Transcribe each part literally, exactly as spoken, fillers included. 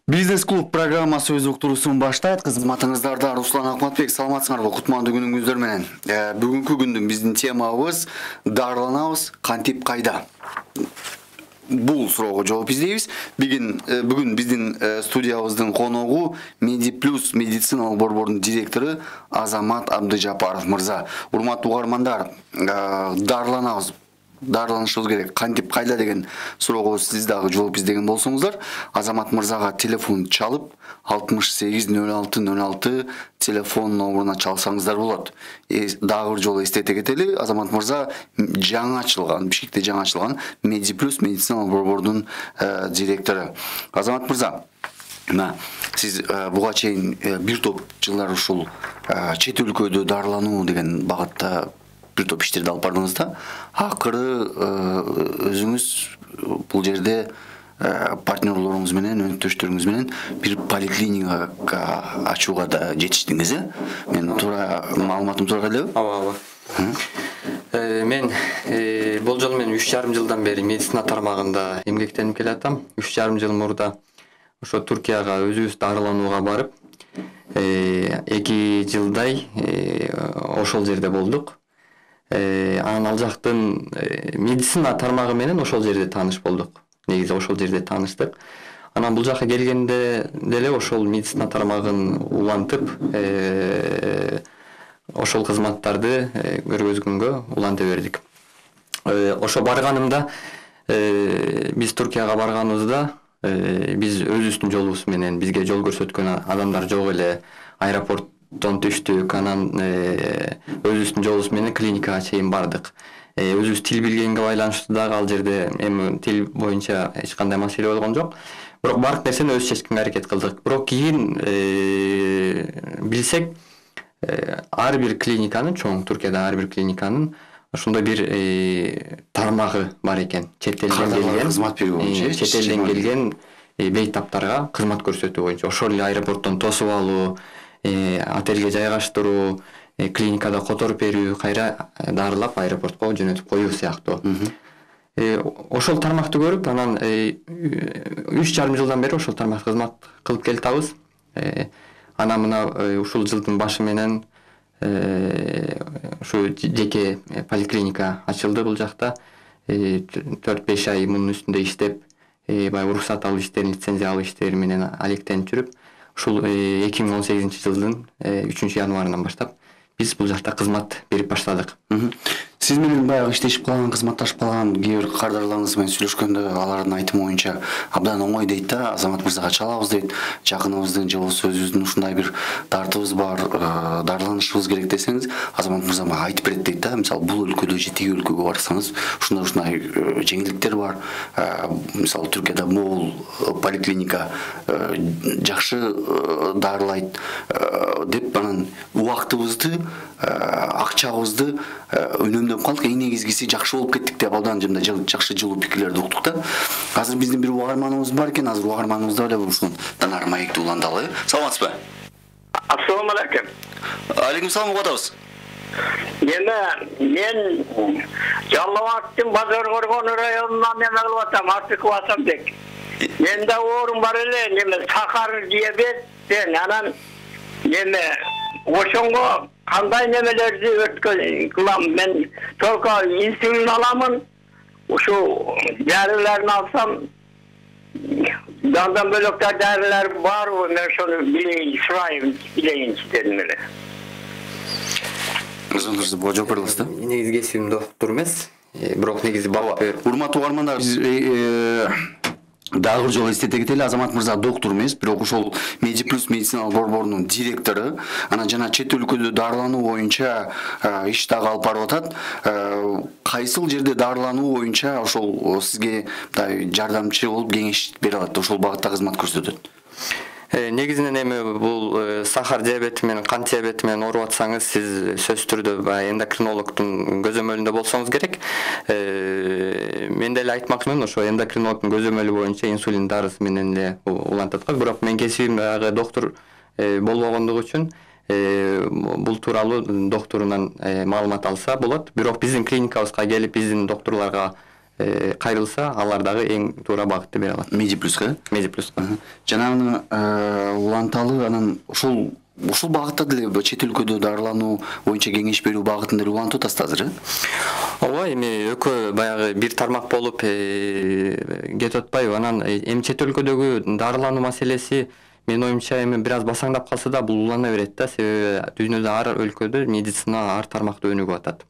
Бизнес клуб программасы өз уктуруусун баштайт. Кызматыңыздарда Руслан Акматбек, саламатсыңарбы? Кутмандуу күнүңүздөр менен. Бүгүнкү күндүн биздин темабыз дарыланабыз, кантип кайда? Бул суроого жооп издейбиз. Бүгүн бүгүн биздин студиябыздын коногу Медиплюс медициналык борбордун директору Азамат Абдыжапаров мырза. Урматтуу угармандар, дарыланабыз, дарыланышыбыз керек, кантип кайда деген суроого сиз дагы жооп издеген болсоңуздар, Азамат мырзага телефон чалып алтымыш сегиз нөл алты нөл алты телефон номуруна чалсаңыздар болот. Дагы бир жолу эстете кетели, Азамат мырза жаңы ачылган, Бишкекте жаңы ачылган Медиплюс медициналык борбордун директору. Азамат мырза, мына сиз буга чейин бир топ жылдар ушул чет өлкөдө дарылануу деген багытта бир топ иштерди алып бардыңыз да, акыры өзүңүз бул жерде партнерлоруңуз менен, өнөктөштөрүңүз менен бир поликлиника ачууга да жетиштиңиз, э? Мен туура маалыматым туура элеби? Ооба, ооба. Мен бул жолу мен үч жарым жылдан бери медицина тармагында эмгектенип келатам. үч жарым жыл мурда ошо Туркияга өзүбүз дарыланууга барып, эки жылдай ошол жерде болдук. Анан ал жактын медицина тармагы менен ошол жерде тааныш болдук. Негизи ошол жерде тааныштык. Анан бул жака келгенде деле ошол медицина тармагын улантып, ошол кызматтарды көргөзгөнгө уланта бердик. Ошо барганымда, биз Туркияга барганыбызда, биз өзүбүздүн жолубуз менен бизге жол көрсөткөн адамдар жок эле, аэропорт түштүк, анан өзүбүздүн жолубуз менен клиникага чейин бардык. Өзүбүз тил билгенге байланыштуу дагы ал жерде эми тил боюнча эч кандай маселе болгон жок. Бирок бардык нерсени өзүбүз чечкенге аракет кылдык. Бирок кийин билсек, ар бир клиниканын, чоң Туркияда ар бир клиниканын ошондой бир тармагы бар экен. Чет элден келген кызмат берүү боюнча, чет элден келген бейтаптарга кызмат көрсөтүү боюнча, ошол эле аэропорттон тосуп алуу, отельге жайгаштыруу, клиникада которуп берүү, кайра дарылап аэропортко жөнөтүп коюу сыяктуу. Ошол тармакты көрүп, анан үч жарым жылдан бери ошол тармакта кызмат кылып келатабыз. Анан мына ушул жылдын башы менен ушу жеке поликлиника ачылды бул жакта. төрт беш ай мунун үстүндө иштеп, баягы уруксат алуу иштерин, лицензия алуу иштери менен алектенип жүрүп, ушул эки миң он сегизинчи жылдын үчүнчү январынан баштап биз бул жакта кызмат берип баштадык. Сиз менен баягы иштешип калган, кызматташып калган кээ бир кардарларыңыз менен сүйлөшкөндө алардын айтымы боюнча абдан оңой дейт да, Азамат мырзага чалабыз дейт, жакыныбыздын же болбосо өзүбүздүн ушундай бир дартыбыз бар, дарыланышыбыз керек десеңиз, Азамат мырза мага айтып берет дейт да. Мисалы бул өлкөдө же тиги өлкөгө барсаңыз, ушундай ушундай жеңилдиктер бар. Мисалы Түркияда могул поликлиника жакшы дарылайт деп, анан убактыбызды, акчабызды үнөмдөп калдык. Эң негизгиси жакшы болуп кеттик деп абдан жакшы жылуу пикирлерди уктук да. Азыр биздин бир угарманыбыз бар экен, азыр угарманыбызды эле ушундан ары маекти уландалы. Саламатсызбы? Ассаламу алейкум. Алейкум салам, угуп атабыз. Эме, мен Жалал Абадтын Базар Коргон районунан неме кылып атам, Артыков Асанбек. Менде оорум бар эле, неме сахар диабет, анан неме ошонго кандай немелерди өткөн кылам? Мен только инсулин аламын. Ушул дарыларын алсам, дандан бөлөк дарылар барбы? Мен ошону билейин, сурайын, билейинчи дедим эле. Өзүңүз бул жооп бересиз да? Негизи кесибим доктур эмес, бирок негизи бала. Урматтуу угармандар, дагы бир жолу эстете кетели, Азамат мырза доктур эмес, бирок ошол Медиплюс медициналык борборунун директору. Анан жана чет өлкөдө дарылануу боюнча иш дагы алып барып атат. Кайсыл жерде дарылануу боюнча ошол сизге жардамчы болуп кеңеш бере алат, ошол багытта кызмат көрсөтөт? Негизинен эми бул сахар диабети менен, кант диабети менен ооруп атсаңыз, сиз сөзсүз түрдө эндокринологдун көзөмөлүндө болсоңуз керек. Мен деле айтмакчымын, ошо эндокринологдун көзөмөлү боюнча инсулин дарысы менен эле улантат го. Бирок мен кесибим дагы доктур болбогондугу үчүн бул тууралуу докторунан маалымат алса болот. Бирок биздин клиникабызга келип, биздин доктурларга кайрылса алар дагы эң туура багытты бере алат. Медиплюска Медиплюска. жанагы уланталы анан ушул ушул багытта деле чет өлкөдө дарылануу боюнча кеңеш берүү багытында эле улантып атасыз азыр, э? Ооба, эми экөө баягы бир тармак болуп кетип атпайбы? Анан эми чет өлкөдөгү дарылануу маселеси менин оюмча эми бир аз басаңдап калса да бул улана берет да, себеби дүйнөдө ар өлкөдө медицина ар тармакта өнүгүп атат.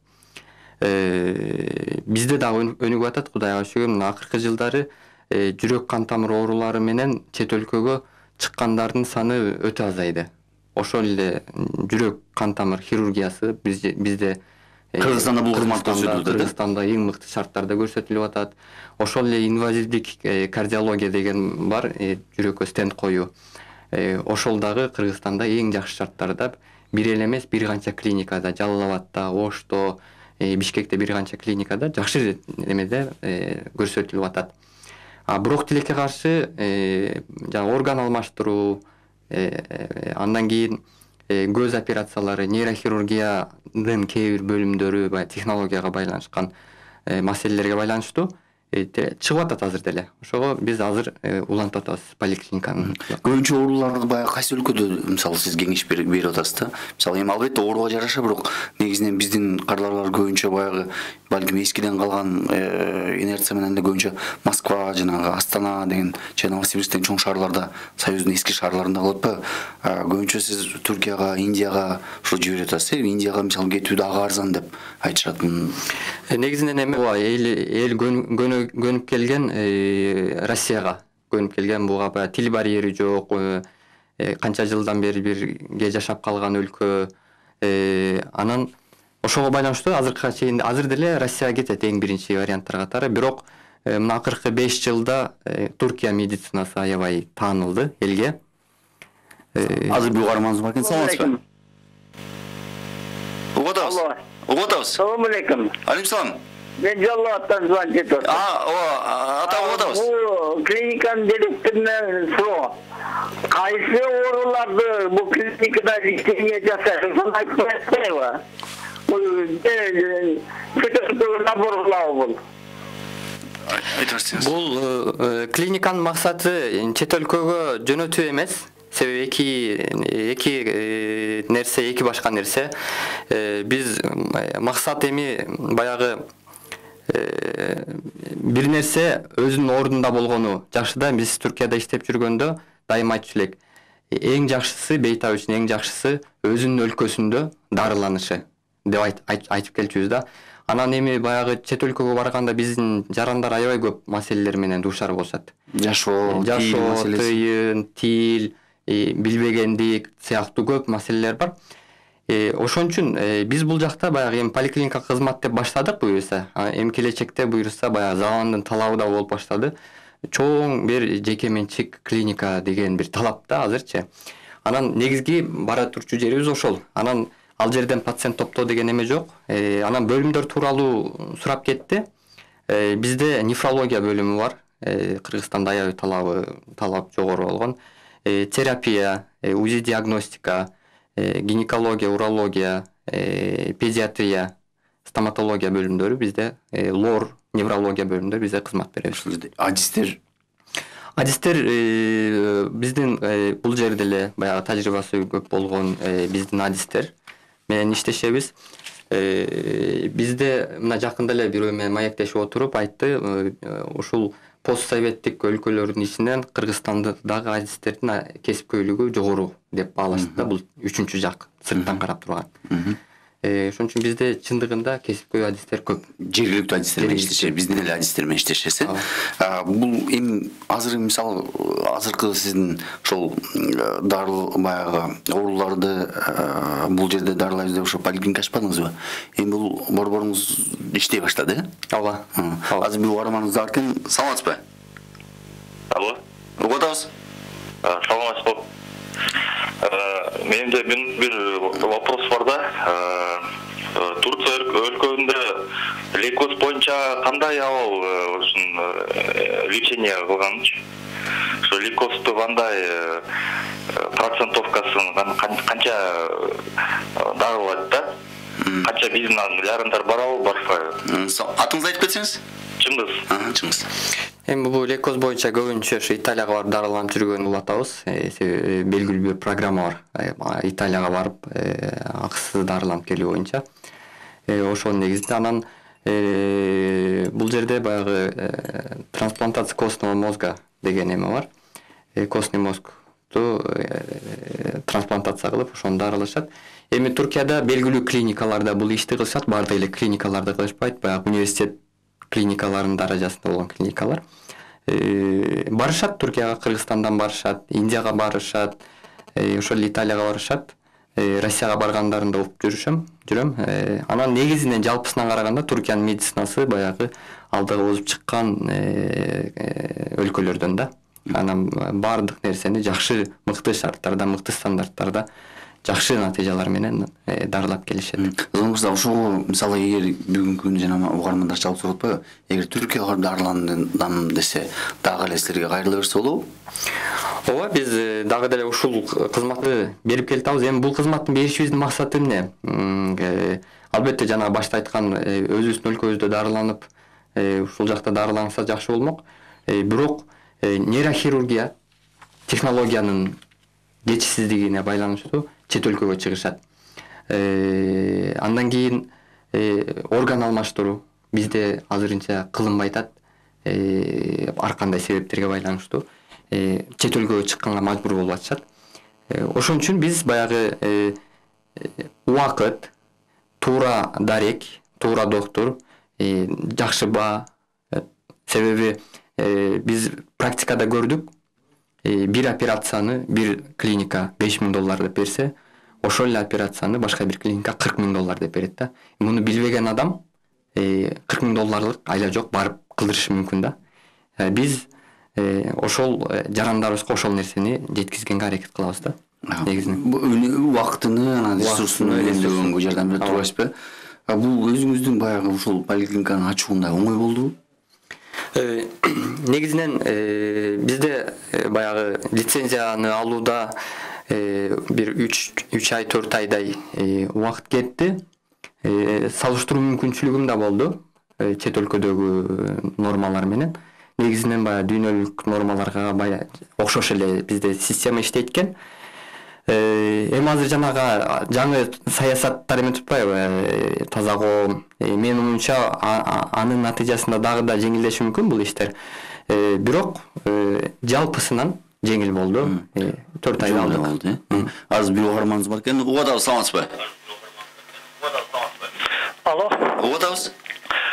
Бизде дагы өнүгүп атат, Кудайга шүгүр. Мына акыркы жылдары жүрөк кан тамыр оорулары менен чет өлкөгө чыккандардын саны өтө азайды. Ошол эле жүрөк кан тамыр хирургиясы бизде Кыргызстанда бул кызмат көрсөтүлөт, Кыргызстанда эң мыкты шарттарда көрсөтүлүп атат. Ошол эле инвазивдик кардиология деген бар, жүрөккө стенд коюу. Ошол дагы Кыргызстанда эң жакшы шарттарда, бир эле эмес, бир канча клиникада, Жалал Абадта, Ошто, Бишкекте бир канча клиникада жакшы эмеде көрсөтүлүп атат. А бирок тилекке каршы жана орган алмаштыруу, андан кийин көз операциялары, нейрохирургиянын кээ бир бөлүмдөрү технологияга байланышкан маселелерге байланыштуу чыгып атат азыр деле. Ошого биз азыр улантып атабыз поликлиниканы. Көбүнчө ооруларды баягы кайсы өлкөдө мисалы сиз кеңеш берип атасыз да? Мисалы эми албетте ооруга жараша, бирок негизинен биздин кардарлар көбүнчө баягы балким эскиден калган инерция менен эле көбүнчө Москва, жанагы Астана деген же Новосибирсктен чоң шаарларда, Союздун эски шаарларында калып атпайбы? Көбүнчө сиз Түркияга, Индияга ушул жиберип атасыз. Индияга мисалы кетүү дагы арзан деп айтышат. Негизинен эми эл көнүп келген Россияга көнүп келген, буга баягы тил барьери жок, канча жылдан бери бирге жашап калган өлкө. Анан ошого байланыштуу азыркыга чейин азыр деле Россияга кетет эң биринчи варианттар катары. Бирок мына акыркы беш жылда Туркия медицинасы аябай таанылды элге. Азыр бул угарманыбыз бар экен, саламатсызбы? Угатабыз. Угатабыз. Салам алейкум. Алейкум салам. Мен Жалал Абадтан звонить этип атам. А, ооба, ата угатабыз. Бул клиниканын директорунан суроо. Кайсы ооруларды бул клиникада лечение жасайсыз? Сону айтып атпайбы? Бул көтөрүп набор кылабы бул? Бул клиниканын максаты чет өлкөгө жөнөтүү эмес. Себеби эки эки нерсе, эки башка нерсе. Биз максат эми баягы бир нерсе өзүнүн ордунда болгону жакшы да. Биз Түркияда иштеп жүргөндө дайыма айтчу элек. Эң жакшысы, бейтап үчүн эң жакшысы өзүнүн өлкөсүндө дарыланышы деп айтып келчүбүз да. Анан эми баягы чет өлкөгө барганда биздин жарандар аябай көп маселелер менен дуушар болушат. Жашоо, жашоо, тыйын, тил, билбегендик сыяктуу көп маселелер бар. Ошон үчүн биз бул жакта баягы эми поликлиника кызмат деп баштадык буюрса. Эми келечекте буюрса баягы замандын талабы да болуп баштады. Чоң бир жеке менчик клиника деген бир талап да азырчы. Анан негизги бара турчу жерибиз ошол. Анан ал жерден пациент топтоо деген эме жок. Анан бөлүмдөр тууралуу сурап кетти. Бизде нефрология бөлүмү бар. Кыргызстанда аябай талабы талап жогору болгон. Терапия, УЗИ диагностика, гинекология, урология, педиатрия, стоматология бөлүмдөрү бизде, лор, неврология бөлүмдөрү бизде кызмат беребиз. Адистер Адистер биздин бул жерде эле баягы тажрыйбасы көп болгон биздин адистер менен иштешебиз. Бизде мына жакында эле бирөө менен маектешип отуруп айтты, ушул постсоветтик өлкөлөрдүн ичинен Кыргызстандагы адистердин кесипкөйлүгү жогору деп баалашты да, бул үчүнчү жак сырттан карап турган. Ошон үчүн бизде чындыгында кесипкөй адистер көп. Жергиликтүү адистер менен иштешет, биздин эле адистер менен иштешет. Бул эми азыр мисалы азыркы сиздин ошол дарыл баягы ооруларды бул жерде дарылайбыз деп ошо поликлиника ачпадыңызбы? Эми бул борборуңуз иштей баштады, э? Ооба. Азыр бул угарманыбыз бар экен, саламатсызбы? Алло. Угатабыз. Саламатсызбы? Менде бир вопрос бар да. Турция өлкөсүндө лейкоз боюнча кандай абал ушун лечение кылганчы? Ошо лейкозду кандай процентовкасын канча дарылайт да? Канча биздин жарандар барабы, барбайбы? Атыңызды айтып кетсеңиз? Чыңгыз. Ага, Чыңгыз. Эми бул лейкоз боюнча көбүнчө ушу Италияга барып дарыланып жүргөнү улатабыз. Себеби белгилүү бир программа бар. Италияга барып акысыз дарыланып келүү боюнча. Ошонун негизинде анан бул жерде баягы трансплантация костного мозга деген эме бар. Костный мозгду трансплантация кылып ошону дарылашат. Эми Туркияда белгилүү клиникаларда бул ишти кылышат, баардык эле клиникаларда кылышпайт. Баягы университет клиникаларынын даражасында болгон клиникалар. Барышат Туркияга, Кыргызстандан барышат, Индияга барышат, ошол эле Италияга барышат. Россияга баргандарында угуп жүрүшөм, жүрөм. Анан негизинен жалпысынан караганда Туркиянын медицинасы баягы алдыга озуп чыккан өлкөлөрдөн да. Анан баардык нерсени жакшы, мыкты шарттарда, мыкты стандарттарда жакшы натыйжалар менен дарылап келишет. Зоңузда ошого мисалы эгер бүгүнкү күндө жана угармандар чалып туруп атпайбы? Эгер Түркияга барып дарыландым десе, дагы эле силерге кайрыла берсе болобу? Ооба, биз дагы деле ушул кызматты берип келатабыз. Эми бул кызматты беришибиздин максаты эмне? Албетте жана башта айткан өзүбүздүн өлкөбүздө дарыланып, ушул жакта дарыланса жакшы болмок. Бирок нейрохирургия технологиянын жетишсиздигине байланыштуу чет өлкөгө чыгышат. Андан кийин орган алмаштыруу бизде азырынча кылынбай атат. Ар кандай себептерге байланыштуу чет өлкөгө чыкканга мажбур болуп атышат. Ошон үчүн биз баягы убакыт, туура дарек, туура доктур, жакшы баа. Себеби биз практикада көрдүк, бир операцияны бир клиника беш миң доллар деп берсе, ошол эле операцияны башка бир клиника кырк миң доллар деп берет да. Муну билбеген адам кырк миң долларлык айла жок барып кылдырышы мүмкүн да. Биз ошол жарандарыбызга ошол нерсени жеткизгенге аракет кылабыз да. Негизинен убактыны, анан ресурсуну үнөмдөгөнгө жардам берип турасызбы? Бул өзүңүздүн баягы ушул поликлиниканын ачуунда оңой болдубу? Негизинен бизде баягы лицензияны алууда бир үч ай, төрт айдай убакыт кетти. Салыштыруу мүмкүнчүлүгүм да болду чет өлкөдөгү нормалар менен. Негизинен баягы дүйнөлүк нормаларга баягы окшош эле бизде система иштейт экен. Эми азыр жанагы жаңы саясаттар эметип атпайбы? Таза коом. Менин оюмча анын натыйжасында дагы да жеңилдеши мүмкүн бул иштер. Бирок жалпысынан жеңил болду. төрт айда алдык. Азыр бир угарманыбыз бар экен. Угадабыз, саламатсызбы? Алло. Угадабыз?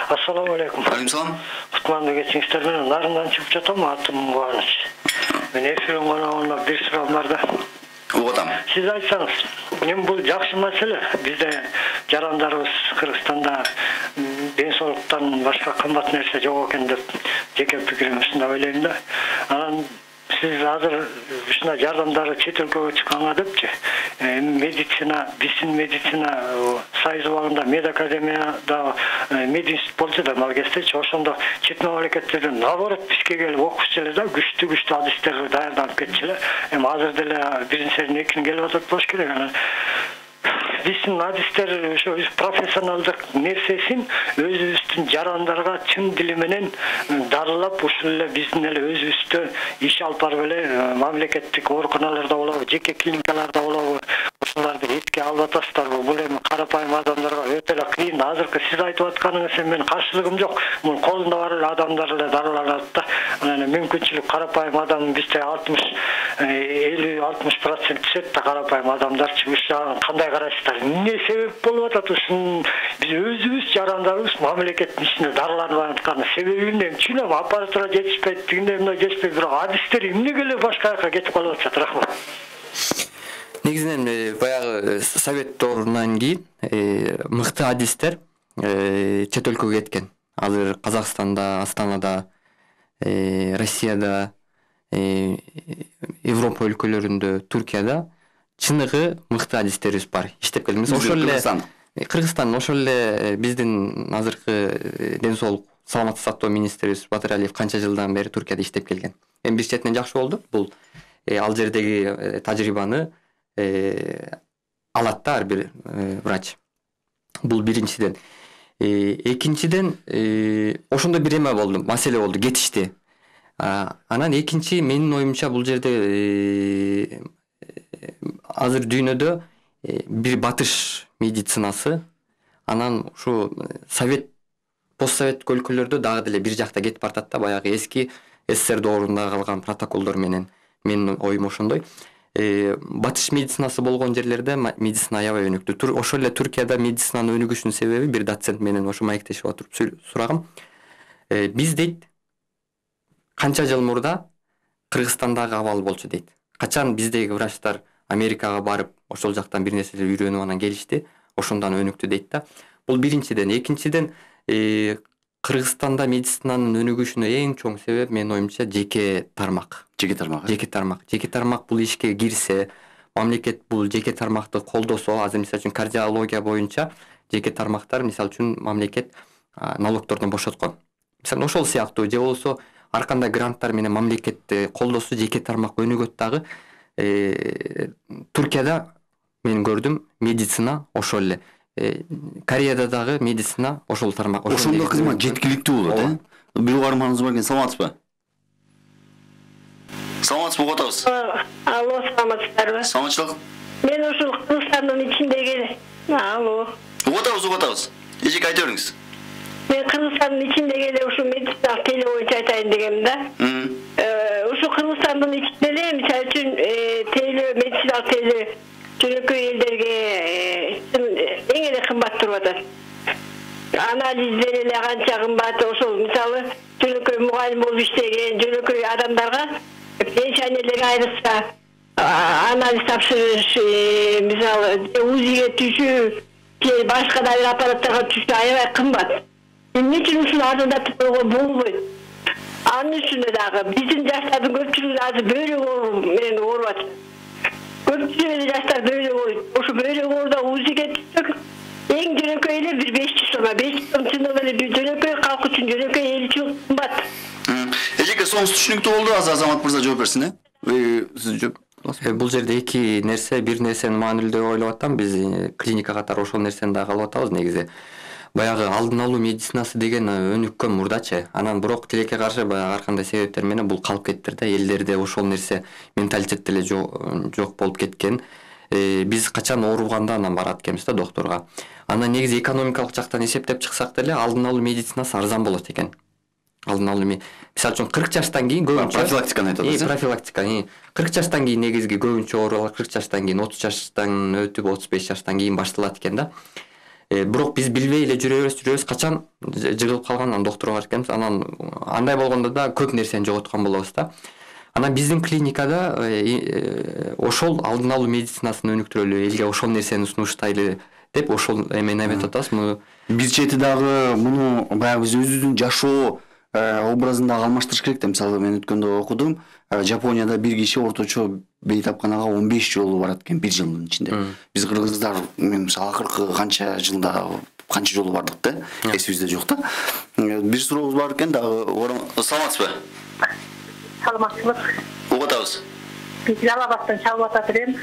Ассаламу алейкум. Алейкум салам. Кутманды кечиңиздер менен нарындан чыгып жатам, атым Кубаныч. Мен эфирин коногуна бир суроом бар да. Угадам. Сиз айтсаңыз, эми бул жакшы маселе. Бизде жарандарыбыз Кыргызстанда ден соолуктан башка кымбат нерсе жок экен деп жеке пикирим ушундай ойлойм да. Анан сиз азыр ушундай жардамдары чет өлкөгө чыкканга депчи, медицина, биздин медицина союз убагында медакадемияда мединститут болчу да ал кездечи, ошондо чет мамлекеттерден наоборот бизге келип окушчу эле да, күчтүү күчтүү адистерди даярданып кетчү эле. Эми азыр деле биринчиден экини келип атат болуш керек. Анан биздин адистер ошо профессионалдык нерсесин өзүбүздүн жарандарга чын дили менен дарылап, ушул эле биздин эле өзүбүздө иш алып барып эле мамлекеттик ооруканаларда болобу, жеке клиникаларда болобу, ошолорду этке алып атасыздарбы? Бул эми карапайым адамдарга өтө эле кыйын. Азыркы сиз айтып атканыңыз менин каршылыгым жок. Мун колунда бар эле адамдар эле дарыланат да. Анан мүмкүнчүлүк карапайым адам бизде алтымыш элүү алтымыш процент түшөт да карапайым адамдарчы. Ушуга кандай карайсыздар? Эмне себеп болуп атат ушун биз өзүбүз жарандарыбыз мамлекеттин ичинде дарыланып аткан себеби эмне? Түшүнөм, аппаратура жетишпейт, тигиндей мындай жетишпейт, бирок адистер эмнеге эле башка жака кетип калып атышат? Рахмат. Негизинен баягы совет доорунан кийин мыкты адистер чет өлкөгө кеткен. Азыр Казакстанда, Астанада, Россияда, Европа өлкөлөрүндө, Туркияда чыныгы мыкты адистерибиз бар. Иштеп келдик. Ошол эле Кыргызстан, ошол эле биздин азыркы ден соолук саламаттык сактоо министрибиз Батыр Алиев канча жылдан бери Туркияда иштеп келген. Эми бир четинен жакшы болду. Бул ал жердеги тажрыйбаны алат да ар бир врач. Бул биринчиден. Экинчиден ошондо бир эме болду, маселе болду, кетишти. Анан экинчи менин оюмча бул жерде азыр дүйнөдө бир батыш медицинасы, анан ушу совет постсоветтик өлкөлөрдө дагы деле бир жакта кетип баратат да, баягы эски СССР доорунда калган протоколдор менен. Менин оюм ошондой. Батыш медицинасы болгон жерлерде медицина аябай өнүктүү. Ошол эле Түркияда медицинанын өнүгүшүнүн себеби бир доцент менен ошо маектешип отуруп сурагам. Биз дейт канча жыл мурда Кыргызстандагы абал болчу дейт. Качан биздеги врачтар Америкага барып, ошол жактан бир нерселер үйрөнүп анан келишти, ошондон өнүктү дейт да. Бул биринчиден. Экинчиден, Кыргызстанда медицинанын өнүгүшүнө эң чоң себеп менин оюмча жеке тармак. Жеке тармак. Жеке тармак. Жеке тармак бул ишке кирсе, мамлекет бул жеке тармакты колдосо, азыр мисалы үчүн кардиология боюнча жеке тармактар мисалы үчүн мамлекет налогтордон бошоткон. Мисалы ошол сыяктуу же болсо ар кандай гранттар менен мамлекетти колдосо жеке тармак өнүгөт дагы. Түркияда мен көрдүм медицина ошол эле. Кореяда дагы медицина ошол тармак. Ошондо кызмат жеткиликтүү болот, э? Бир угарманыбыз бар экен, саламатсызбы? Саламатсызбы, угуп атабыз. Алло, саламатсыздарбы? Саламатчылык. Мен ушул Кыргызстандын ичиндеги. Алло. Угуп атабыз, угуп атабыз. Эжеке айта бериңиз. Мен Кыргызстандын ичиндеги эле ушул медициналык теле боюнча айтайын дегем да. Ушул Кыргызстандын ичинде эле мисалы үчүн теле медициналык теле жөнөкөй элдерге эң эле кымбат туруп атат. Анализдер эле канча кымбат, ошол мисалы жөнөкөй мугалим болуп иштеген жөнөкөй адамдарга пенсионерлерге айрыкча анализ тапшырыш, мисалы УЗИге түшүү, же башка да бир аппараттарга түшүү аябай кымбат. Эмне үчүн ушуну арзандатып койгонго болбойт? Анын үчүн дагы биздин жаштардын көпчүлүгү азыр бөйрөк оору менен ооруп атат. Көпчүлүгү жаштар бөйрөк ооруйт. Ошо бөйрөк ооруда УЗИге түшсөк, эң жөнөкөй эле бир беш жүз сомго, беш жүз сом чындыгында эле бир жөнөкөй калк үчүн жөнөкөй эл үчүн кымбат. Эжеке, сонуңуз түшүнүктүү болду, азыр Азамат мырза жооп берсин, э? Сиз жооп. Бул жерде эки нерсе, бир нерсени маанилүү деп ойлоп атам. Биз клиника катары ошол нерсени да калып атабыз негизи. Баягы алдын алуу медицинасы деген өнүккөн мурдачы. Анан бирок тилекке каршы баягы ар кандай себептер менен бул калып кеттир да. Элдерде ошол нерсе менталитет деле жок болуп кеткен. Биз качан ооруганда анан барат экенбиз да докторго. Анан негизи экономикалык жактан эсептеп чыксак деле алдын алуу медицинасы арзан болот экен. Алдын алуу мисалы үчүн кырк жаштан кийин көбүнчө профилактиканы айтып атасыз. Профилактика. кырк жаштан кийин негизги көбүнчө оорулар кырк жаштан кийин, отуз жаштан өтүп отуз беш жаштан кийин башталат экен да. Бирок биз билбей эле жүрөбүз, жүрөбүз, качан жыгылып калгандан докторго барып келебиз. Анан андай болгондо да көп нерсени жоготкон болобуз да. Анан биздин клиникада ошол алдын алуу медицинасын өнүктүрөлү, элге ошол нерсени сунуштайлы деп ошол эмени эметип атабыз. Бир чети дагы муну баягы биз өзүбүздүн жашоо образында алмаштырыш керек да. Мисалы мен өткөндө окудум, Жапонияда бир киши орточо бейтапканага он беш жолу барат экен бир жылдын ичинде. Биз кыргыздар мен мисалы акыркы канча жылда канча жолу бардык да, эсибизде жок да. Бир сурообуз бар экен дагы. Саламатсызбы? Саламатсызбы? Угуп атабыз. Биз Жалал-Абадтан чалып атат элем.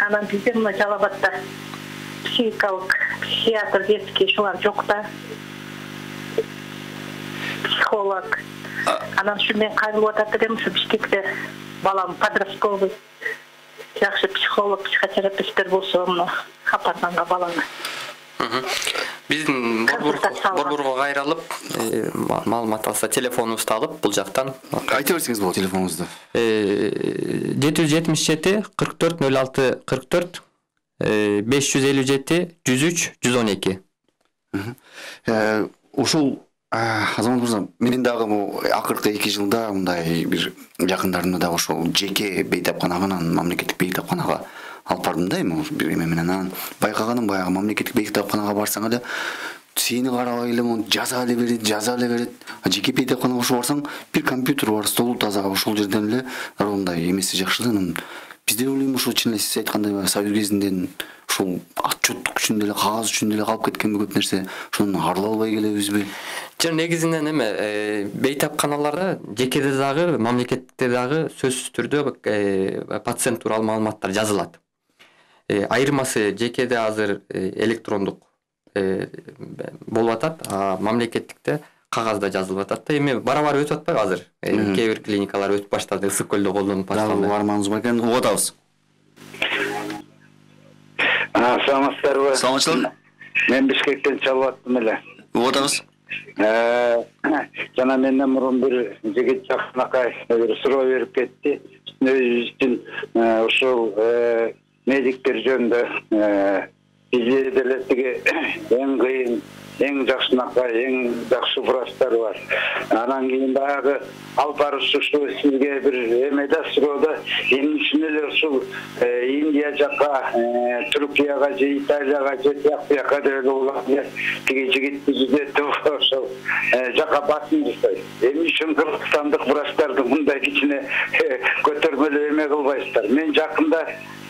Анан бизде мына Жалал-Абадта психикалык психиатр детский ушулар жок да. Психолог. Анан ушу мен кайрылып атат элем, ушу Бишкекте балам подростковый жакшы психолог, психотерапевттер болсо, мына апарганга баланы. Биздин борборго кайрылып, маалымат алса телефонубузду алып бул жактан айта берсеңиз болот телефонуңузду. жети жүз жетимиш жети кырк төрт нөл алты кырк төрт беш жүз элүү жети жүз үч жүз он эки. Ушул Азамат мырза, менин дагы акыркы эки жылда мындай бир жакындарымды да ошол жеке бейтапканадан мамлекеттик бейтапканага алып бардым да, эми бир эме менен. Анан байкаганым баягы мамлекеттик бейтапканага барсаң эле сени карабай эле жаза эле берет, жаза эле берет. Жеке бейтапканага ошо барсаң бир компьютер бар, столу таза, ошол жерден эле мындай эмеси жакшы да. Бизде ойлойм ошо чын эле сиз айткандай Союз кезинен ушул отчеттук үчүн деле, кагаз үчүн деле калып кеткен көп нерсе. Ошону арыла албай келебизби? Жөн негизинен эме бейтапканаларда жекеде дагы, мамлекетте дагы сөзсүз түрдө пациент тууралуу маалыматтар жазылат. Айырмасы жекеде азыр электрондук болуп атат, а мамлекеттикте кагазда жазылып атат да. Эми бара-бара өтүп атпайбы азыр? Кээ бир клиникалар өтүп баштады, Ысык көлдө колдонуп башталды. Дагы арманыңыз бар экен, угуп атабыз. Саламатсыздарбы? Саламатчылык. Мен Бишкектен чалып аттым эле. Угуп атабыз. Жана менден мурун бир жигит жакынакай бир суроо берип кетти. Өзү үчүн ушул медиктер жөнүндө бизде деле тиги эң кыйын, эң жакшынакай, эң жакшы врачтар бар. Анан кийин баягы алып барышуу сизге бир эмеде суроода эмне үчүн эле ушул Индия жакка, Түркияга же Италияга же тияк-бияка деп эле тиги жигит түзүп ошол жакка басым жасайт. Эмне үчүн кыргызстандык врачтарды мындай кичине көтөрмөлүү эме кылбайсыздар? Мен жакында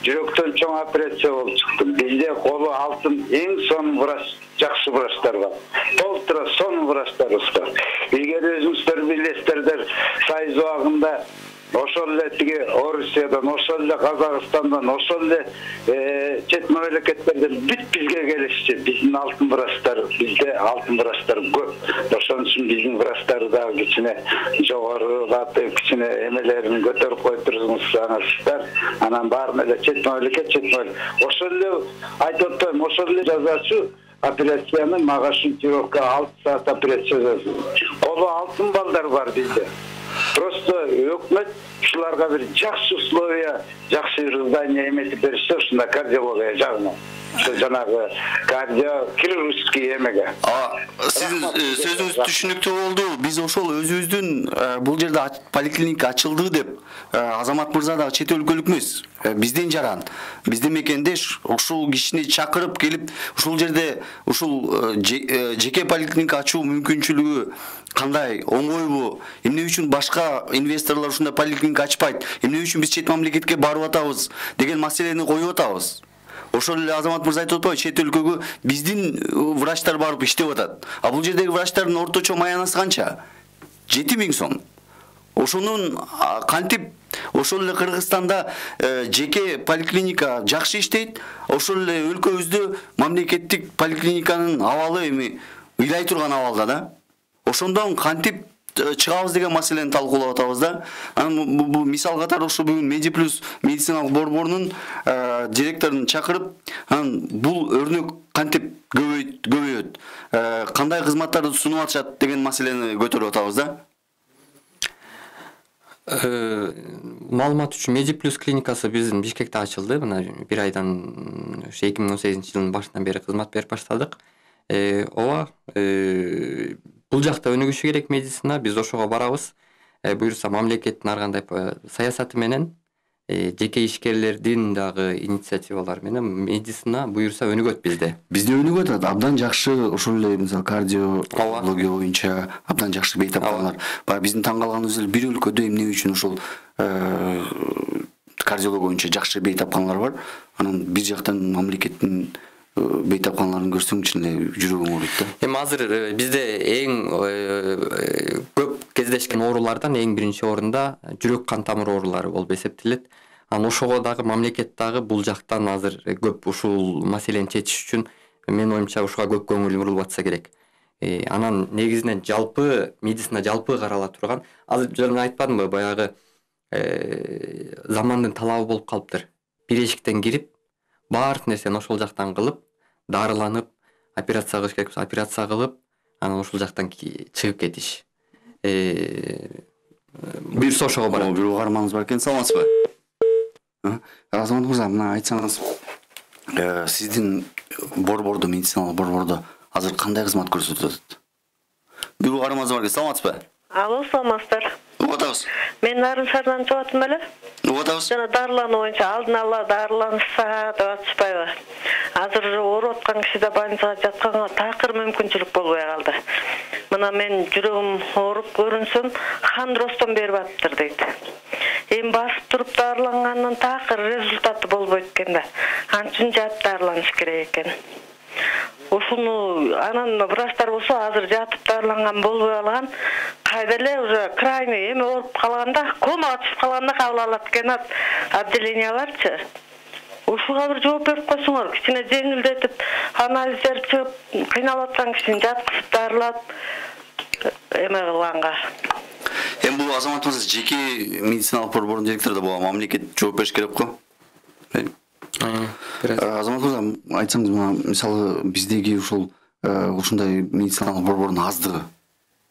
жүрөктөн чоң операция болуп чыктым. Бизде колу алтын эң сонун врач, жакшы врачтар бар. Толтура сонун врачтарыбыз бар. Эгер өзүңүздөр билесиздер, Союз убагында ошол эле тиги Орусиядан, ошол эле Казакстандан, ошол эле чет мамлекеттерден бүт бизге келишчи. Биздин алтын врачтар, бизде алтын врачтар көп. Ошон үчүн биздин врачтарды дагы кичине жогорулатып, кичине эмелерин көтөрүп кой турсаңыздар, анан баарын эле чет мамлекет, чет мамлекет. Ошол эле айтып атпайм, ошол эле жазачу операцияны мага шунтировка алты саат операция жазды. Колу алтын балдар бар бизде. Просто өкмөт ушуларга бир жакшы условия, жакшы здание эметип беришсе, ушунда кардиология жагынан. Ошо жанагы кардиохирургический эмеге. Сиздин сөзүңүз түшүнүктүү болду. Биз ошол өзүбүздүн бул жерде поликлиника ачылды деп Азамат мырза дагы чет өлкөлүк эмес. Бизден жаран, биздин мекендеш ушул кишини чакырып келип, ушул жерде ушул жеке поликлиника ачуу мүмкүнчүлүгү кандай, оңойбу? Эмне үчүн башка инвесторлор ушундай поликлиника ачпайт? Эмне үчүн биз чет мамлекетке барып атабыз деген маселени коюп атабыз. Ошол эле Азамат мырза айтып атпайбы, чет өлкөгө биздин врачтар барып иштеп атат. А бул жердеги врачтардын орточо маянасы канча? жети миң сом. Ошонун кантип ошол эле Кыргызстанда жеке поликлиника жакшы иштейт, ошол эле өлкөбүздө мамлекеттик поликлиниканын абалы эми ыйлай турган абалда да. Ошондон кантип чыгабыз деген маселени талкуулап атабыз да. Анан бул мисал катары ошо бүгүн Медиплюс медициналык борборунун директорун чакырып, анан бул өрнөк кантип көбөйөт, кандай кызматтарды сунуп атышат деген маселени көтөрүп атабыз да. Маалымат үчүн Медиплюс клиникасы биздин Бишкекте ачылды. Мына бир айдан эки миң он сегизинчи жылдын башынан бери кызмат берип баштадык. Ооба, бул жакта өнүгүшү керек медицина, биз ошого барабыз. Буюрса мамлекеттин ар кандай саясаты менен, жеке ишкерлердин дагы инициативалары менен медицина буюрса өнүгөт бизде. Бизде өнүгүп атат, абдан жакшы, ошол эле мисалы кардиология боюнча абдан жакшы бейтаптарлар. Баягы биздин таң калганыбыз эле бир өлкөдө эмне үчүн ошол кардиология боюнча жакшы бейтапканалар бар. Анан бир жактан мамлекеттин бейтапканаларын көрсөң чын эле жүрөгүң ооруйт да. Эми азыр бизде эң көп кездешкен оорулардан эң биринчи орунда жүрөк кан тамыр оорулары болуп эсептелет. Анан ошого дагы мамлекет дагы бул жактан азыр көп ушул маселени чечиш үчүн менин оюмча ушуга көп көңүл бурулуп атса керек. Анан негизинен жалпы медицина жалпы карала турган, азыр жана айтпадымбы, баягы замандын талабы болуп калыптыр. Бир эшиктен кирип, баардык нерсени ошол жактан кылып, дарыланып, операция кылыш керек болсо операция кылып, анан ошол жактан чыгып кетиш. Буюрса ошого барат. Бир угарманыңыз бар экен, саламатсызбы? Азамат мырза, мына айтсаңыз, сиздин борбордо, медициналык борбордо азыр кандай кызмат көрсөтүп атат? Бир угарманыңыз бар экен, саламатсызбы? Алло, саламатсыздар. Угуп атабыз. Мен Нарын шаарынан чыгып аттым эле. Угуп атабыз. Жана дарылануу боюнча алдын ала дарыланышса деп атышпайбы? Азыр уже ооруп аткан кишиде больницага жатканга такыр мүмкүнчүлүк болбой калды. Мына мен жүрөгүм ооруп көрүнсөм, хондростон берип атыптыр дейт. Эми басып туруп дарылангандан такыр результаты болбойт экен да. Анчын жатып дарыланыш керек экен. Ушуну анан врачтар болсо азыр жатып дарыланган болбой калган, кайда эле уже крайний эме ооруп калганда, комага түшүп калганда кабыл алат экен отделенияларчы. ушуга бир жооп берип койсоңор, кичине жеңилдетип, анализдер чыгып, кыйналып аткан кишини жаткызып дарылап эме кылганга. Эми бул азаматыбыз жеке медициналык борбордун директору да, буга мамлекет жооп бериш керек го. Азаматыбыз, айтсаңыз, мына мисалы биздеги ушул ушундай медициналык борбордун аздыгы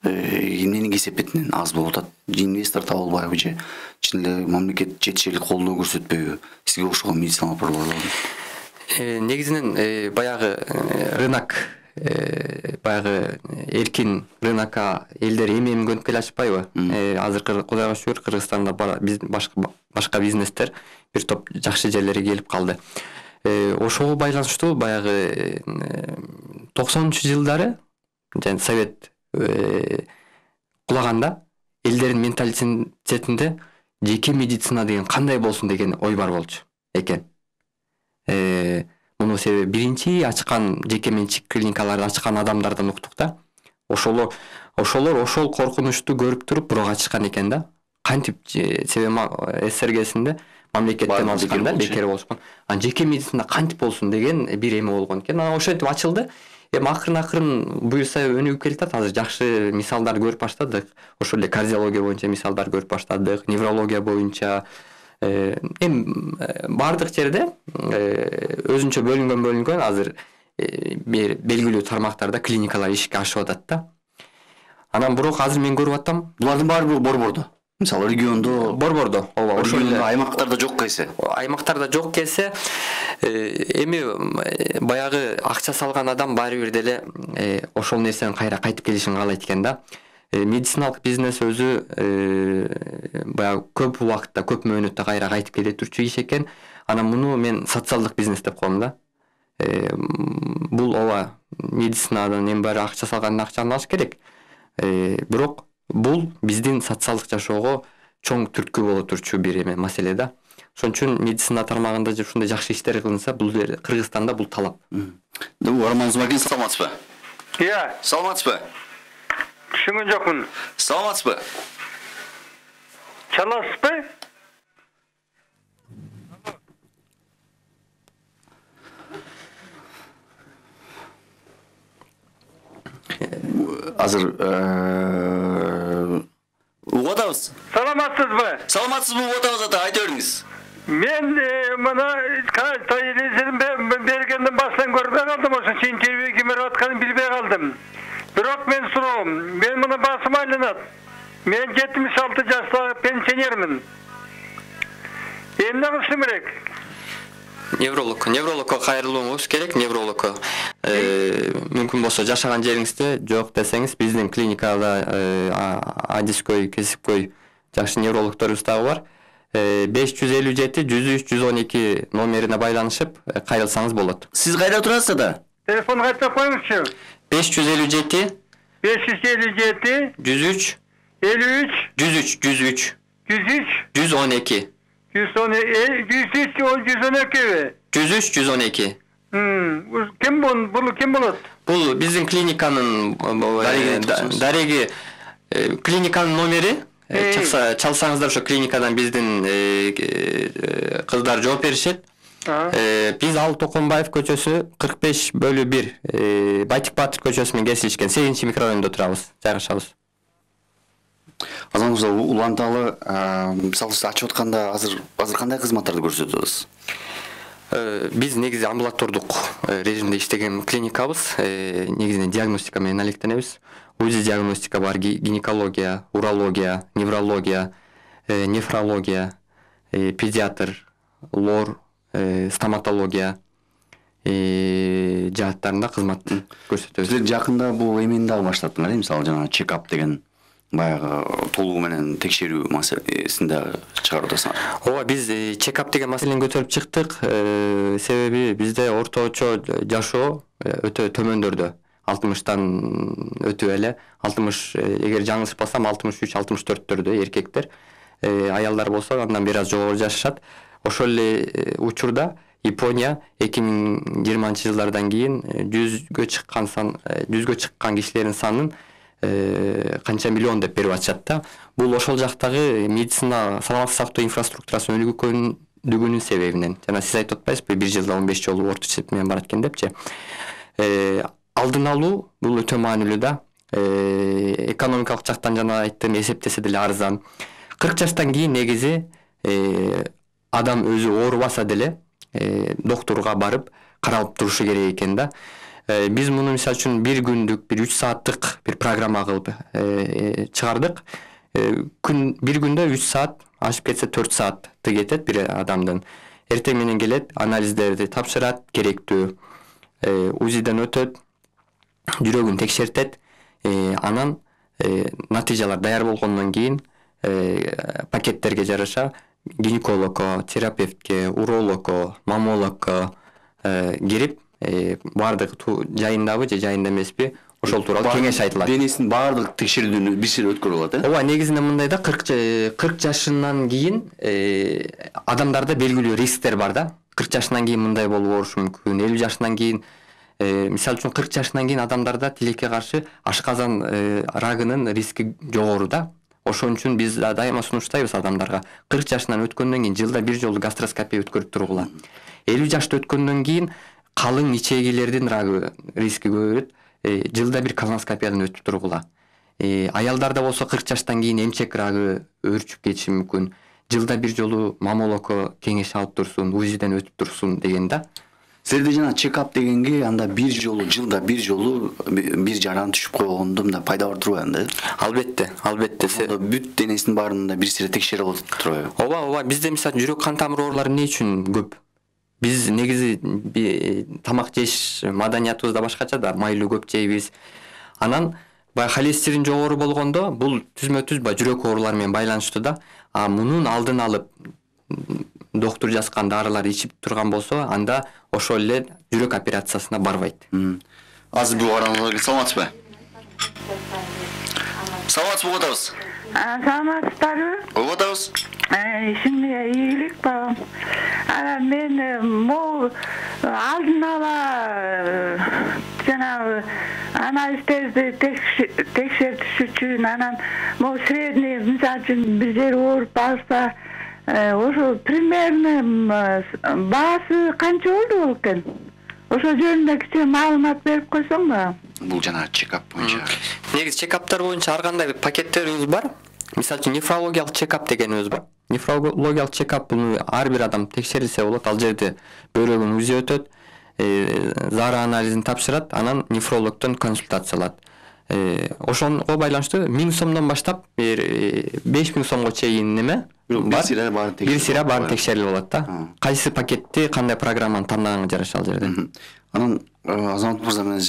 эмнени кесепетинен аз болуп атат? Инвестор табылбайбы же чын эле мамлекет жетишерлик колдоо көрсөтпөйбү сизге окшогон медициналык борборлордун? Негизинен баягы рынок, баягы эркин рынокко элдер эми-эми көнүп келе атышпайбы? Азыр Кудайга шүгүр Кыргызстанда башка башка бизнестер бир топ жакшы жерлерге келип калды. Ошого байланыштуу баягы токсонунчу жылдары жана Совет кулаганда элдердин менталитетинде жеке медицина деген кандай болсун деген ой бар болчу экен. Муну себеби биринчи ачкан жеке менчик клиникаларды ачкан адамдардан уктук да. Ошолор ошолор ошол коркунучту көрүп туруп бирок ачышкан экен да. Кантип себеби ССРГсинде мамлекеттен алышканда бекер болушкан. Анан жеке медицина кантип болсун деген бир эме болгон экен. Анан ошентип ачылды. Эми акырын-акырын буюрса өнүгүп келатат. Азыр жакшы мисалдар көрүп баштадык. Ошол эле кардиология боюнча мисалдар көрүп баштадык, неврология боюнча. Эми бардык жерде өзүнчө бөлүнгөн бөлүнгөн азыр белгилүү тармактарда клиникалар ишке ашып атат да. Анан бирок азыр мен көрүп атам, булардын баары борбордо. Мисалы региондо, борбордо, ооба, ошол эле аймактарда жок келсе. Аймактарда жок келсе, эми баягы акча салган адам баары бир деле ошол нерсенин кайра кайтып келишин каалайт экен да. Медициналык бизнес өзү баягы көп убакытта, көп мөөнөттө кайра кайтып келе турчу иш экен. Анан муну мен социалдык бизнес деп коем да. Бул ооба медицинадан эми баары акча салгандын акчаны алыш керек. Бирок бул биздин социалдык жашоого чоң түрткү боло турчу бир эме маселе да. Ошон үчүн медицина тармагында ушундай жакшы иштер кылынса, бул Кыргызстанда бул талап. Орман Зумакен, саламатсызбы? Иә. Саламатсызбы? Түшүнгөн жокмун. Саламатсызбы? Чаласызбы? Азыр угуп атабыз. Саламатсызбы? Саламатсызбы, угуп атабыз ата, айта бериңиз. Мен мына телевизордун бергенден баштан көрбөй калдым, ошо интервью ким берип атканын билбей калдым. Бирок мен суроом, мен мына басым айланат. Мен жетимиш алты жаштагы пенсионермин. Эмне кылышым керек? Невролог, неврологко кайрылууңуз керек, неврологко. Мүмкүн болсо жашаган жериңизде жок десеңиз, биздин клиникада адискөй, кесипкөй жакшы неврологторубуз дагы бар. беш жүз элүү жети жүз үч жүз он эки номерине байланышып кайрылсаңыз болот. Сиз кайда турасыз ата? Телефон кайтып коюңузчу. беш жүз элүү жети беш жүз элүү жети жүз үч элүү үч жүз үч жүз үч жүз үч жүз он эки жүз он эки жүз үч жүз он эки. Ким бул? Бул ким болот? Бул биздин клиниканын дареги клиниканын номери. Чыкса, чалсаңыздар ошо клиникадан биздин кыздар жооп беришет. Биз Ал Токонбаев көчөсү кырк беш бөлү бир Байтик Батыр көчөсүнүн кесилишкен сегизинчи микрорайондо турабыз, жайгашабыз. Азаматыбыз, уланталы мисалы сиз ачып атканда азыр азыр кандай кызматтарды көрсөтөсүз? Биз негизи амбулатордук режимде иштеген клиникабыз, негизинен диагностика менен алектенебиз. УЗИ диагностика бар, гинекология, урология, неврология, нефрология, педиатр, лор, стоматология жааттарында кызмат көрсөтөбүз. Силер жакында бул эмени дагы баштаттыңар, мисалы жана чекап деген баягы толугу менен текшерүү маселесин дагы чыгарып атасыңар. Ооба, биз чекап деген маселени көтөрүп чыктык. Себеби бизде орточо жашоо өтө төмөндөрдө. алтымыштан өтүп эле, алтымыш, эгер жаңылышпасам алтымыш үч алтымыш төрттөрдө эркектер, аялдар болсо андан бир аз жогору жашашат. Ошол эле учурда Япония эки миң жыйырманчы жылдардан кийин жүзгө чыккан сан, жүзгө чыккан кишилердин санын канча миллион деп берип атышат да. Бул ошол жактагы медицина саламаттык сактоо инфраструктурасын өнүгүүгө дүгүнүн себебинен. Жана сиз айтып атпайсызбы, бир жылда он беш жолу орто эсеп менен барат экен депчи. Алдын алуу бул өтө маанилүү да. Экономикалык жактан жана айттым, эсептесе деле арзан. кырк жаштан кийин негизи адам өзү оорубаса деле доктурга барып каралып турушу керек экен да. Биз муну мисалы үчүн бир күндүк, бир үч сааттык бир программа кылып чыгардык. Күн бир күндө үч саат, ашып кетсе төрт саатты кетет бир адамдын. Эртең менен келет, анализдерди тапшырат, керектүү УЗИден өтөт, жүрөгүн текшертет, анан натыйжалар даяр болгондон кийин пакеттерге жараша гинекологко, терапевтке, урологко, маммологко кирип баардык жайындабы же жайында эмеспи ошол тууралуу кеңеш айтылат. Денесинин баардык текшерүүдүн бир сири өткөрүп алат, э? Ооба, негизинде мындай да, кырк жашынан кийин адамдарда белгилүү рисктер бар да. кырк жашынан кийин мындай болуп болушу мүмкүн. элүү жашынан кийин, мисалы үчүн кырк жашынан кийин адамдарда тилекке каршы ашказан рагынын риски жогору да. Ошон үчүн биз дайыма сунуштайбыз адамдарга кырк жашынан өткөндөн кийин жылда бир жолу гастроскопия өткөрүп тургула. элүү жашты өткөндөн кийин калың ичегилердин рагы риски көбөйөт. Жылда бир колоноскопиядан өтүп тургула. Аялдарда болсо кырк жаштан кийин эмчек рагы өөрчүп кетиши мүмкүн. Жылда бир жолу маммологко кеңеш алып турсун, УЗИден өтүп турсун деген да. Силерде жана чекап дегенге анда бир жолу, жылда бир жолу бир жаран түшүп койгондо мындай пайда бар турбайбы анда? Албетте, албетте. Бүт денесинин баарында бир сире текшерип алып турбайбы? Ооба, ооба. Бизде мисалы жүрөк кан тамыр оорулары эмне үчүн көп? Биз негизи тамак жеш маданиятыбызда башкача да, майлуу көп жейбиз. Анан баягы холестерин жогору болгондо бул түзмө-түз баягы жүрөк оорулары менен байланыштуу да. А мунун алдын алып доктур жазган дарылар ичип турган болсо, анда ошол эле жүрөк операциясына барбайт. Азыр бул караңызга саламатсызбы? Саламатсызбы, угатабыз? Саламатсыздарбы? Угатабыз. Ишиңе ийгилик багам. Анан мен могу алдын ала жанагы анализдерди текшертиш үчүн, анан могу средний, мисалы үчүн бир жери ооруп алса, ошо примерно баасы канча болду бол экен? Ошо жөнүндө кичине маалымат берип койсоңбу? Бул жана чекап боюнча. Негизи чекаптар боюнча ар кандай пакеттерибиз бар. Мисалы үчүн нефрологиялык чекап дегенибиз бар. Нефрологиялык чекап бул ар бир адам текшерилсе болот. Ал жерде бөйрөгүн УЗИ өтөт, зара анализин тапшырат, анан нефрологдон консультация алат. Ошонго байланыштуу миң сомдон баштап беш миң сомго чейин неме? Бир сире баарын текшерип. Бир сире баарын текшерип алат да. Кайсы пакетти, кандай программаны тандаганга жараша ал жерде. Анан Азамат мырза менен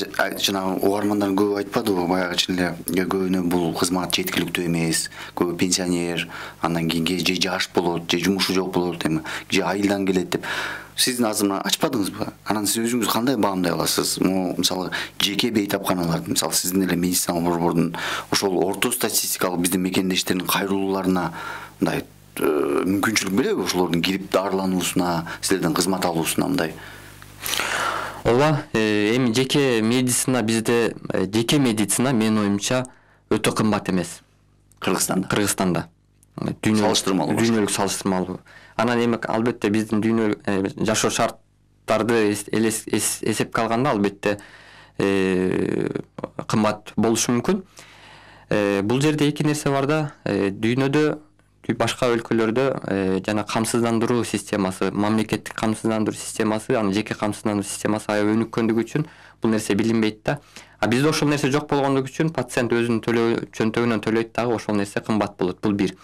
жанагы угармандар көп айтпадыбы, баягы чын эле көбүнө бул кызмат жеткиликтүү эмес, көбү пенсионер, андан кийин же жаш болот, же жумушу жок болот, эми же айылдан келет деп. Сиздин азыр мына ачпадыңызбы? Анан сиз өзүңүз кандай баамдай аласыз? Могу мисалы жеке бейтапканалар, мисалы сиздин эле медициналык борбордун ошол орто статистикалык биздин мекендештердин кайрылууларына мындай мүмкүнчүлүк береби ошолордун кирип дарылануусуна, силерден кызмат алуусуна мындай? Ооба, эми жеке медицина бизде, жеке медицина менин оюмча өтө кымбат эмес. Кыргызстанда. Кыргызстанда. Салыштырмалуу. Дүйнөлүк салыштырмалуу. Анан эми албетте биздин дүйнөлүк жашоо шарттарды эсепке алганда албетте кымбат болушу мүмкүн. Бул жерде эки нерсе бар да. Дүйнөдө башка өлкөлөрдө жана камсыздандыруу системасы, мамлекеттик камсыздандыруу системасы, аны жеке камсыздандыруу системасы аябай өнүккөндүгү үчүн бул нерсе билинбейт да. А бизде ошол нерсе жок болгондугу үчүн пациент өзүнүн төлөө чөнтөгүнөн төлөйт дагы, ошол нерсе кымбат болот. Бул бир.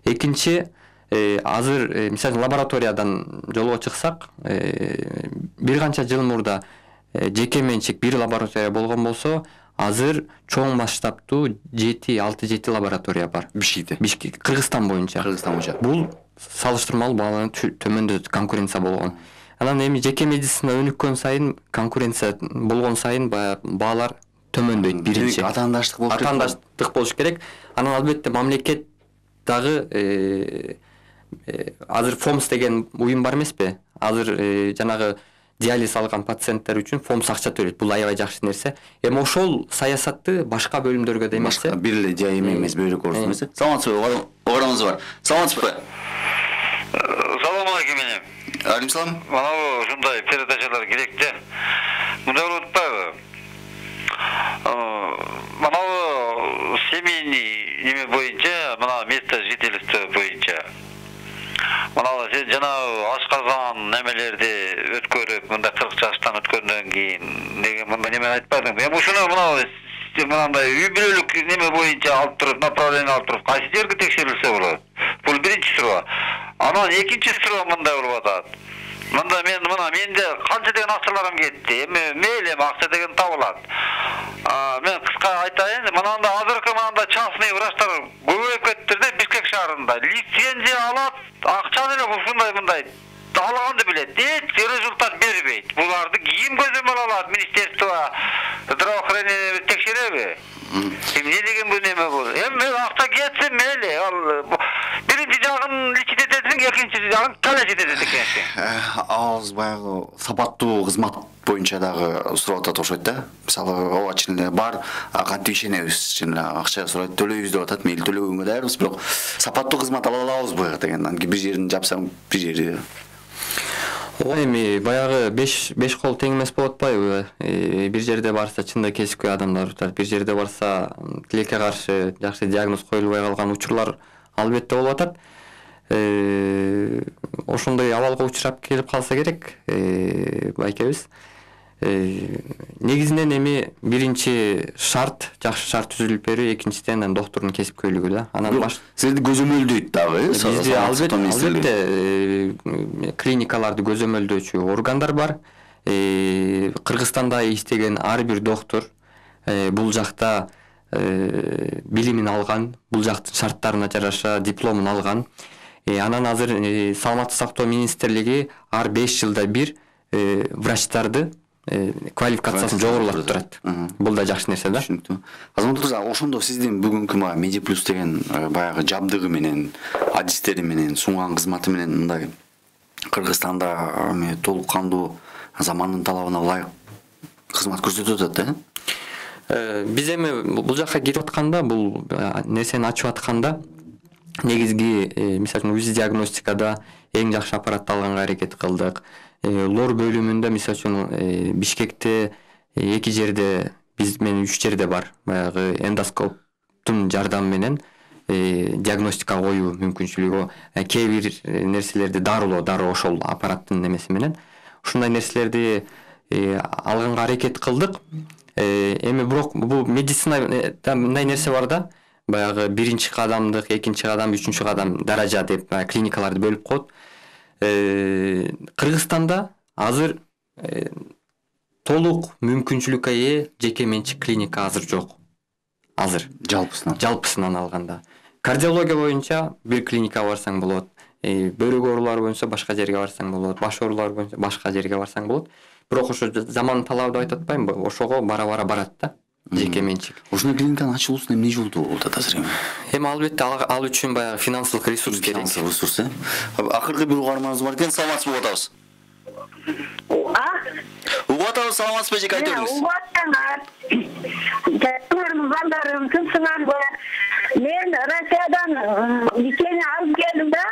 Экинчи, азыр мисалы лабораториядан жолго чыксак, бир канча жыл мурда жеке менчик бир лаборатория болгон болсо, азыр чоң масштабтуу жети алты жети лаборатория бар. Бишкекте. Бишкек, Кыргызстан боюнча. Кыргызстан боюнча. Бул салыштырмалуу бааланып төмөндөт, конкуренция болгон. Анан эми жеке медицина өнүккөн сайын, конкуренция болгон сайын баалар төмөндөйт биринчи. Атаандаштык болуш керек. Атаандаштык болуш керек. Анан албетте мамлекет дагы азыр ФОМС деген уюм бар эмеспи? Азыр жанагы диализ алган пациенттер үчүн ФОМС акча төлөйт. Бул аябай жакшы нерсе. Эми ошол саясатты башка бөлүмдөргө да эмес, бир эле жай эмес, бөйрөк оорусу эмес. Саламатсызбы? Оораңыз бар. Саламатсызбы? Салам алейкум. Алейкум салам. Манабы ушундай передачалар керек да. Мындай болуп атпайбы? Манабы семейный неме боюнча, мына место жительства боюнча. Манабы сен жанагы ашказан немелерди өткөрүп, мында кырк жаштан өткөндөн кийин деген мындай неме айтпадың. Эми ушуну мына мындай үй бүлөлүк неме боюнча алып туруп, направление алып туруп, кайсы жерге текшерилсе болот? Бул биринчи суроо. Анан экинчи суроо мындай болуп атат. Мында мен мына менде канча деген акчаларым кетти. Эми мейли эми акча деген табылат. А мен кыска айтайын, мынанда азыркы мынанда частный врачтар көбөйүп кетти да Бишкек шаарында. Лицензия алат, акчаны эле ушундай мындай алганды билет. Эч результат бербейт. Буларды ким көзөмөл алат? Министерство здравоохранения текшереби? Эмне деген бул неме бул? Эми акча кетсин мейли. Ал биринчи жагын личит этесиң, экинчи жагын калечит этесиң экенсиң. Ауыз баягы сапаттуу кызмат боюнча дагы сурап атат окшойт да. Мисалы, ооба чын эле бар, кантип ишенебиз, чын эле акча сурайт, төлөйбүз деп атат, мейли төлөгөнгө даярбыз, бирок сапаттуу кызмат ала алабызбы деген. Анткени бир жерин жапсаң, бир жери Ооба, эми баягы беш беш кол тең эмес болуп атпайбы? Бир жерде барса чында кесипкөй адамдар турат, бир жерде барса тилекке каршы жакшы диагноз коюлбай калган учурлар албетте болуп атат. Ошондой абалга учурап келип калса керек байкебиз. Негизинен эми биринчи шарт, жакшы шарт түзүлүп берүү, экинчиден анан доктурдун кесипкөйлүгү да. Анан баш силерди көзөмөлдөйт дагы, бизде албетте клиникаларды көзөмөлдөөчү органдар бар. Кыргызстанда иштеген ар бир доктор бул жакта билимин алган, бул жактын шарттарына жараша дипломун алган. Анан азыр Саламаттык сактоо министрлиги ар беш жылда бир врачтарды квалификациясын жогорулатып турат. Бул да жакшы нерсе да. Түшүнүктүү. Азамат мырза, ошондо сиздин бүгүнкү мага Медиплюс деген баягы жабдыгы менен, адистери менен, сунган кызматы менен мындай Кыргызстанда эми толук кандуу замандын талабына ылайык кызмат көрсөтүп атат да. Биз эми бул жакка кирип атканда, бул нерсени ачып атканда негизги, мисалы үчүн УЗИ диагностикада эң жакшы аппаратты алганга аракет кылдык. Лор бөлүмүндө мисалы үчүн Бишкекте эки жерде, биз менен үч жерде бар. Баягы эндоскоптун жардамы менен диагностика коюу мүмкүнчүлүгү, кээ бир нерселерди дарылоо, дароо ошол аппараттын немеси менен ушундай нерселерди алганга аракет кылдык. Эми бирок бул медицина мындай нерсе бар да, баягы биринчи кадамдык, экинчи кадам, үчүнчү кадам даража деп клиникаларды бөлүп коет. Кыргызстанда азыр толук мүмкүнчүлүккө ээ жеке менчик клиника азыр жок. Азыр жалпысынан жалпысынан алганда кардиология боюнча бир клиника барсаң болот, бөйрөк оорулары боюнча башка жерге барсаң болот, баш оорулары боюнча башка жерге барсаң болот. Бирок ошо замандын талабы деп айтып атпаймынбы? Ошого бара-бара барат да. Жеке менчик. Ушундай клиниканын ачылуусуна эмне жолдуу болуп атат азыр эми? Эми албетте ал үчүн баягы финансылык ресурс керек. Финансылык ресурс, э? Акыркы бир угарманыбыз бар экен, саламатсызбы угуп атабыз? А? Угуп атабыз, саламатсызбы эжеке, айта бериңиз. Угуп атсаңар. Жактырым балдарым тынчсыңарбы? Мен Россиядан лечение алып келдим да.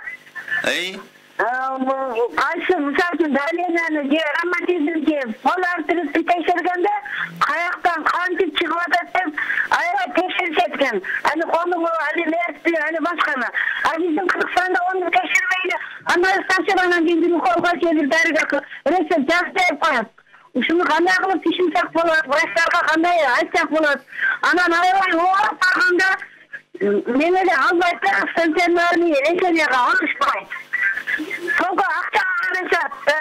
Эй? Кайсы мисалы давленияны же роматизмди пол артериясын текшергенде каяктан кантип чыгып атат деп аябай текшеришет экен. Аны конуңу, аны нервти, аны башканы. А биздин Кыргызстанда аны текшербейли, андай стационардан кийин колго келип дарыга рецепт жазып коет. Ушуну кандай кылып түшүнсөк болот, врачтарга кандай айтсак болот. Анан аябай ооруп барганда мен эле албайт да, стационарный леченияга алышпайт. Толго акча карашат да.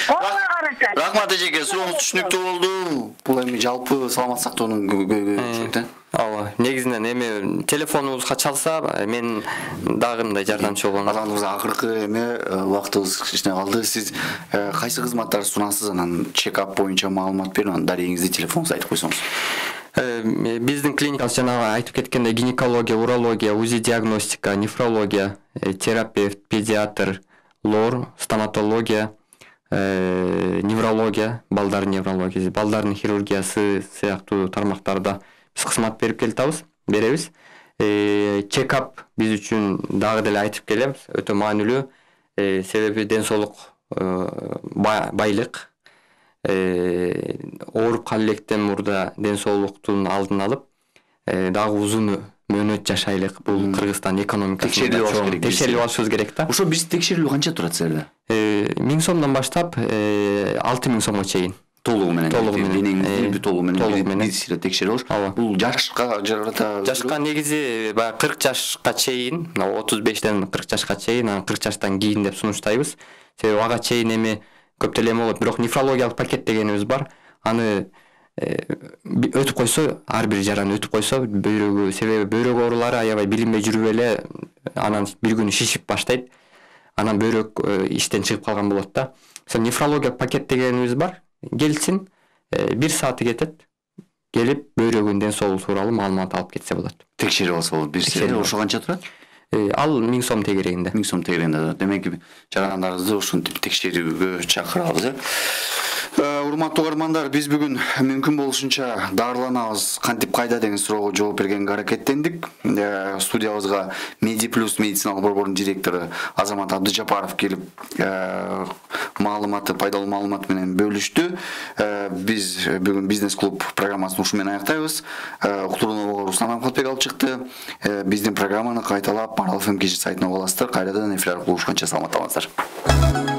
Ооба карашат. Рахмат эжеке, сурооңуз түшүнүктүү болду. Бул эми жалпы саламат сактоонун көйгөйү. Ооба, негизинен эми телефонубузга чалса, мен дагы мындай жардамчы болом. Азамат мырза, акыркы эме убактыбыз кичине калды. Сиз кайсы кызматтарды сунасыз, анан чек-ап боюнча маалымат берип, анан дарегиңизди, телефонуңузду айтып койсоңуз. Биздин клиникабыз жанагы айтып кеткендей гинекология, урология, УЗИ диагностика, нефрология, терапевт, педиатр, лор, стоматология, неврология, балдардын неврологиясы, балдардын хирургиясы сыяктуу тармактарда биз кызмат берип келатабыз, беребиз. Чек-ап биз үчүн дагы деле айтып келебиз, өтө маанилүү. Себеби ден соолук байлык, ооруп кала электен мурда ден соолуктун алдын алып, дагы узун мөөнөт жашайлык. Бул Кыргызстан экономикасын текшерип алышыбыз керек да. Ошо биз текшерилүү канча турат силерде? миң сомдон баштап алты миң сомго чейин. Толугу менен. Толугу менен. Толугу менен. Биз силер текшерип алыш. Бул жашка жарата. Жашка негизи баягы кырк жашка чейин, отуз бештен кырк жашка чейин, анан кырк жаштан кийин деп сунуштайбыз. Себеби ага чейин эми көп деле болот. Бирок нефрологиялык пакет дегенибиз бар. Аны өтүп койсо, ар бир жараны өтүп койсо, бөйрөгү, себеби бөйрөк оорулары аябай билинбей жүрүп эле анан бир күнү шишип баштайт. Анан бөйрөк иштен чыгып калган болот да. Ошо нефрологиялык пакет дегенибиз бар. Келсин, бир сааты кетет. Келип бөйрөгүнүн ден соолугу тууралуу маалымат алып кетсе болот. Текшерип алса болот. Бир саат. Ошо канча турат? Ал миң сом тегерегинде. миң сом тегерегинде. Демек жарандарыңызды ушинтип текшерүүгө чакырабыз, э. Урматтуу угармандар, биз бүгүн мүмкүн болушунча дарыланабыз, кантип кайда деген суроого жооп бергенге аракеттендик. Студиябызга Медиплюс медициналык борбордун директору Азамат Абдыжапаров келип, маалыматы, пайдалуу маалымат менен бөлүштү. Биз бүгүн бизнес клуб программасын ушу менен аяктайбыз. Уктуруунубу Руслан Амкулбек алып чыкты. Биздин программаны кайталап Марал эф эм кежи сайтына уга аласыздар. Кайрадан эфир аркылуу улушканча саламатта болуңуздар.